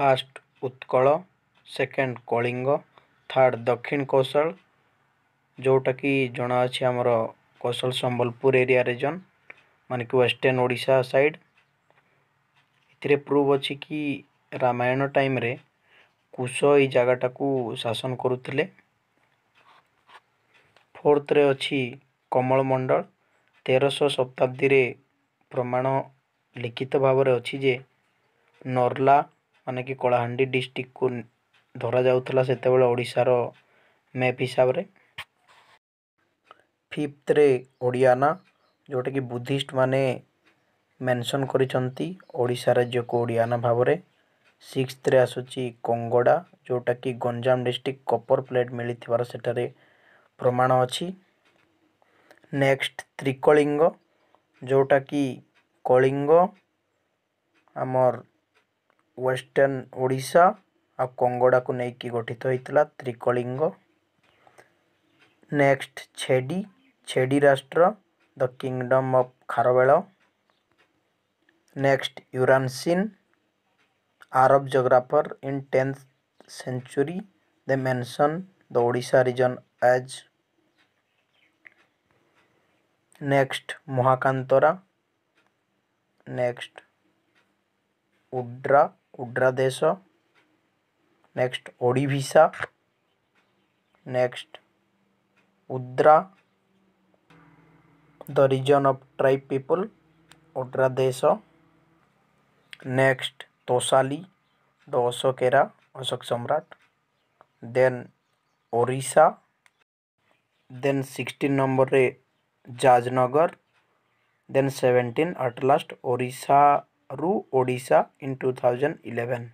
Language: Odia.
First Utkal, second Kalinga, third ଦକ୍ଷିଣ କୌଶଳ, ଯେଉଁଟାକି ଜଣାଅଛି ଆମର କୌଶଳ ସମ୍ବଲପୁର ଏରିଆ ରିଜନ୍, ମାନେ କି ୱେଷ୍ଟର୍ଣ୍ଣ ଓଡ଼ିଶା ସାଇଡ଼୍। ଏଥିରେ ପ୍ରୁଭ୍ ଅଛି କି ରାମାୟଣ ଟାଇମ୍ରେ କୁଶ ଏଇ ଜାଗାଟାକୁ ଶାସନ କରୁଥିଲେ। ଫୋର୍ଥରେ ଅଛି କମଳମଣ୍ଡଳ। 1300 ଶତାବ୍ଦୀରେ ପ୍ରମାଣ ଲିଖିତ ଭାବରେ ଅଛି ଯେ ନର୍ଲା, ମାନେ କି କଳାହାଣ୍ଡି ଡିଷ୍ଟ୍ରିକ୍ଟକୁ ଧରାଯାଉଥିଲା ସେତେବେଳେ ଓଡ଼ିଶାର ମ୍ୟାପ୍ ହିସାବରେ। ଫିଫ୍ଥରେ ଓଡ଼ିଆନା, ଯେଉଁଟାକି ବୁଦ୍ଧିଷ୍ଟ ମାନେ ମେନସନ୍ କରିଛନ୍ତି ଓଡ଼ିଶା ରାଜ୍ୟକୁ ଓଡ଼ିଆନା ଭାବରେ। ସିକ୍ସଥରେ ଆସୁଛି କଙ୍ଗଡ଼ା, ଯେଉଁଟାକି ଗଞ୍ଜାମ ଡିଷ୍ଟ୍ରିକ୍ଟ କପର ପ୍ଲେଟ୍ ମିଳିଥିବାର ସେଠାରେ ପ୍ରମାଣ ଅଛି। ନେକ୍ସଟ ତ୍ରିକଳିଙ୍ଗ, ଯେଉଁଟାକି କଳିଙ୍ଗ ଆମର୍ ୱେଷ୍ଟର୍ଣ୍ଣ ଓଡ଼ିଶା ଆଉ କଙ୍ଗଡ଼ାକୁ ନେଇକି ଗଠିତ ହେଇଥିଲା ତ୍ରିକଳିଙ୍ଗ। ନେକ୍ସଟ ଛେଡ଼ି, ଛେଡ଼ି ରାଷ୍ଟ୍ର, the kingdom of Kharavela. Next Uransen, Arab geographer in 10th century, they mention the Odisha region as. Next Mahakantara. Next Udra, Udra ଦେଶ। Next Odivisa. Next Udra, the region of tribe people, Odra ଦେଶ। Next Tosali, the Ashoka era, Ashoka Samrat. Then Orissa. Then 16 ନମ୍ବରରେ ଜାଜନଗର। ଦେନ୍ 17 ଆଟ୍ ଲାଷ୍ଟ ଓଡ଼ିଶାରୁ ଓଡ଼ିଶା ଇନ୍ 2011।